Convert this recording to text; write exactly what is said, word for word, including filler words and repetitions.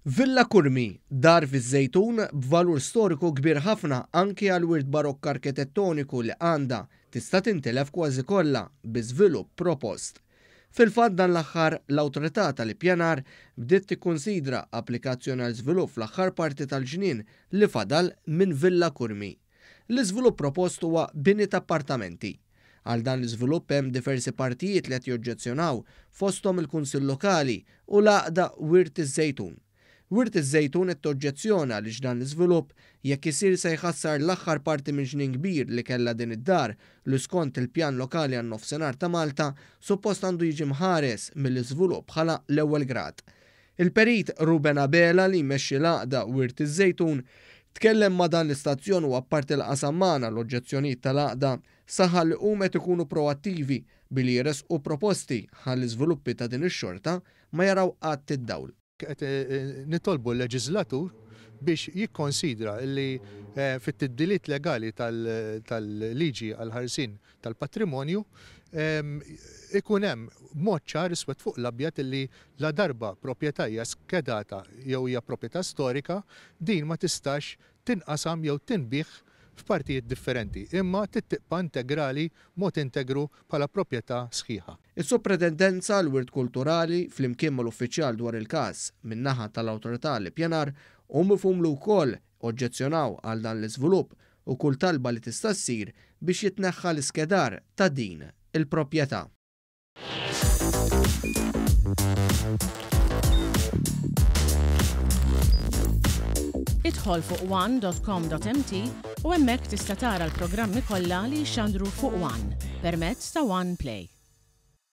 Villa Curmi, dar fiż-Żejtun b'valur storiku kbir ħafna anki għall-wirt barokk arkitettoniku li għandha, tista' tintilef kważi kollha bi żvilupp propost. Fil-fatt dan l-aħħar l-Awtorità tal-Ippjanar bdiet tikkunsidra applikazzjoni għal żvilupp fl-aħħar parti tal-ġnien li fadal minn Villa Curmi. L-iżvilupp propost huwa bini ta' appartamenti. Għal dan l-iżvilupp hemm diversi partijiet li qed joġġezzjonaw, fosthom il-Kunsill Lokali u l-Għaqda Wirt iż-Żejtun. Wirt iż-Żejtun qed toġġezzjona għaliex dan l-iżvilupp jekk isir se jħassar l-aħħar parti minn ġnien kbir li kellha din id-dar li skont il-pjan lokali għan-nofsinhar ta' Malta suppost għandu jiġi mħares mill-iżvilupp bħala l-ewwel grad. Il-perit Ruben Abela li jmexxi l-Għaqda Wirt iż-Żejtun tkellem ma' dan l-istazzjon u apparti l-qasam magħna l-oġġezzjonijiet tal-għaqda saħaq li huma qed ikunu proattivi billi jressqu proposti ħalli żviluppi ta' din ix-xorta ma jaraw qatt id-dawl. Qed nitolbu l-leġislatur biex jikkonsidra li fit-tibdiliet legali tal-liġi għal-ħarsien tal-patrimonju ikun hemm mod ċar iswed fuq l-abjad li la darba proprjetà hija skedata jew hija proprjetà storika, din ma tistax tinqasam jew tinbiegħ f'partijiet differenti, imma tibqa' integrali mod integru bħala proprjetà sħiħa. Is-Sopratendenza għall-Wirt Kulturali flimkien mal-uffiċjal dwar il-każ min-naħa tal-Awtorità l-Ippjanar hu mifhum li wkoll oġġezzjonaw għal dan l-iżvilupp u kull talba li tista' ssir biex jitneħħa l-iskedar ta' din il-proprjetà. Idħol fuq one dot com dot m t u hemmhekk tista' tara l-programmi kollha li jxandru fuq One permezz ta' One Play.